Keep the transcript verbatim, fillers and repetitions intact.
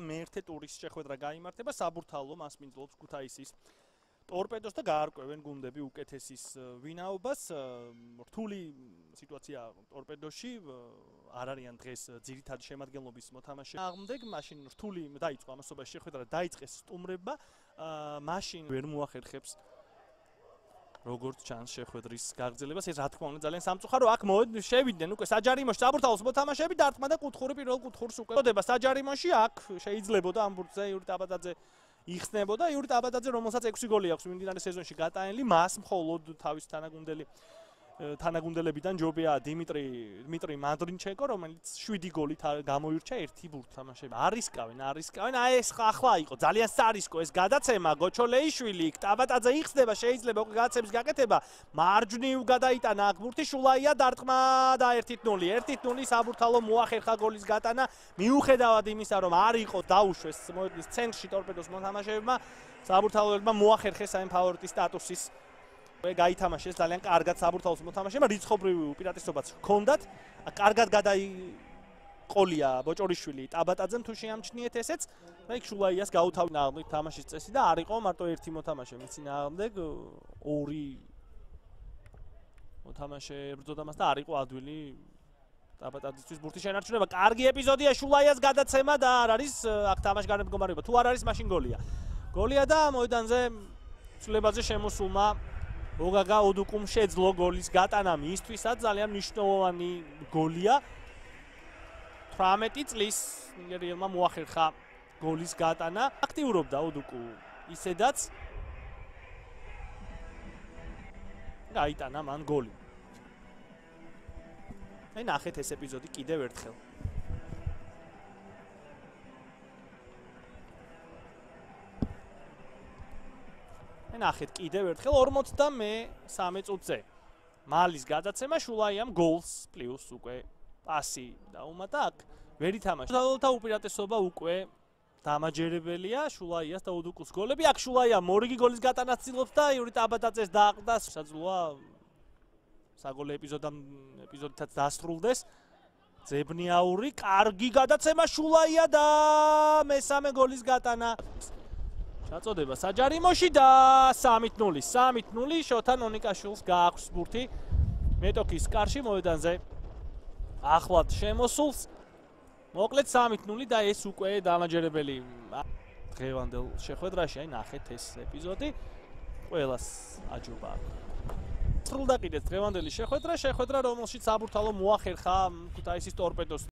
მეერთე ტურის შეხვედრა გაიმართება საბურთალო მას მინძლობს ქუთაისის ტორპედოს და გაარკვევენ გუნდები უკეთესის ვინაობას. რთული სიტუაცია ტორპედოში არ არიან დღეს ძირითადი შემადგენლობის მოთამაშე. აღმდეგ მაშინ რთული დაიწყო ამასობაში შეხვედრა დაიწყეს სტუმრებმა. მაშინ ვერ მოახერხებს როგორც ჩანს შეხვედრის გაგრძელებას. ეს რა თქმა უნდა ძალიან სამწუხარო. აქ შევიდნენ უკვე საჯარიმოში საბურთალოს მოთამაშეები დარტყმა და კუთხური პირველ კუთხურს უკვე ხდება საჯარიმოში. აქ შეიძლებოდა ამ ბურთზე იური ტაბატაძე იხსნებოდა იური ტაბატაძე, რომელსაც ექვსი გოლი აქვს მიმდინარე სეზონში გატანილი, მას მხოლოდ თავის თანაგუნდელი თანაგუნდელებიდან ჯობია დიმიტრი დიმიტრი მანდრინჩენკო, რომელიც შვიდი გოლით გამოირჩა ერთი ბურთ თამაშები. არისკავენ, არისკავენ. აი ეს ახლა იყო ძალიან სარისკო ეს გადაცემა. გოჩოლეიშვილი, ტაბატაძე იხსნება, შეიძლება უკვე გადაცემის გაკეთება. მარჯვნივ გადაიტანა აქ ბურთი, შულაია დარტყმა და ერთი ნული. ერთი ნული საბურთალო მოახერხა გოლის გატანა. მიუხედავად იმისა, რომ არ იყო დაუშვეს მოედნის ცენტრში ტორპედოს მოთამაშეებმა, საბურთალოებმა მოახერხეს აი ფავორიტის სტატუსის გაითამაშეს ძალიან კარგად საბურთალოს მოთამაშეებმა, რიცხობრივი უპირატესობაც ჰქონდათ. კარგად გადაიყოლია ბოჭორიშვილი ტაბატაძემ თუ შეამჩნიეთ ესეც. და იქ შულაიას გაუთავნა აღმით თამაშის წესი და არ იყო მარტო ერთი მოთამაშე, მის წინააღმდეგ ორი მოთამაშე ებრძოდა მას და არ იყო ადვილი ტაბატაძისთვის ბურთის შენარჩუნება. კარგი ეპიზოდია შულაიას გადაცემა და არ არის აქ თამაშგარეთ მდგომარეობა. თუ არ არის მაშინ გოლია. გოლია და მოედანზე ცვლილებაზე შემოსულმა ოგაგა ოდუკუმ შეძლო გოლის გატანა მისთვისაც ძალიან მნიშვნელოვანი გოლია. თვრამეტი წლის ნიგერიელმა მოახერხა გოლის გატანა. აქტიურობდა ოდუკუ ისედაც გაიტანა მან გოლი. აი ნახეთ ეს ეპიზოდი კიდევ ერთხელ. ნახეთ კიდევ ერთხელ ორმოცდამესამე წუთზე. მალის გადაცემა შულაიამ გოლს პლუს უკვე პასი დაუმატა აქ. ვერ ითამაშა. საბურთალოთა უპირატესობა უკვე დამაჯერებელია შულაიას და უდუკუს გოლები. აქ შულაია მორიგი გოლის გატანას ცდილობს და იური ტაბატაძეს დააყდა. შესაძლოა საგოლე ეპიზოდამ ეპიზოდითაც დასრულდეს. ძებნიაური კარგი გადაცემა შულაია და მესამე გოლის გატანა. ჩაწოდება საჯარიმოში და სამი ნული. სამი ნული შოთა ნონიკაშვილს გააქვს ბურთი მეტოქის კარში მოედანზე. ახლად შემოსულს. მოკლედ სამი ნული და ეს უკვე დამაჯერებელი დღევანდელ შეხვედრაში. აი ნახეთ ეს ეპიზოდი. ყველას აჯობა. სრულდა კიდეც დღევანდელი შეხვედრა, შეხვედრა რომელშიც საბურთალო მოახერხა ქუთაისის ტორპედოს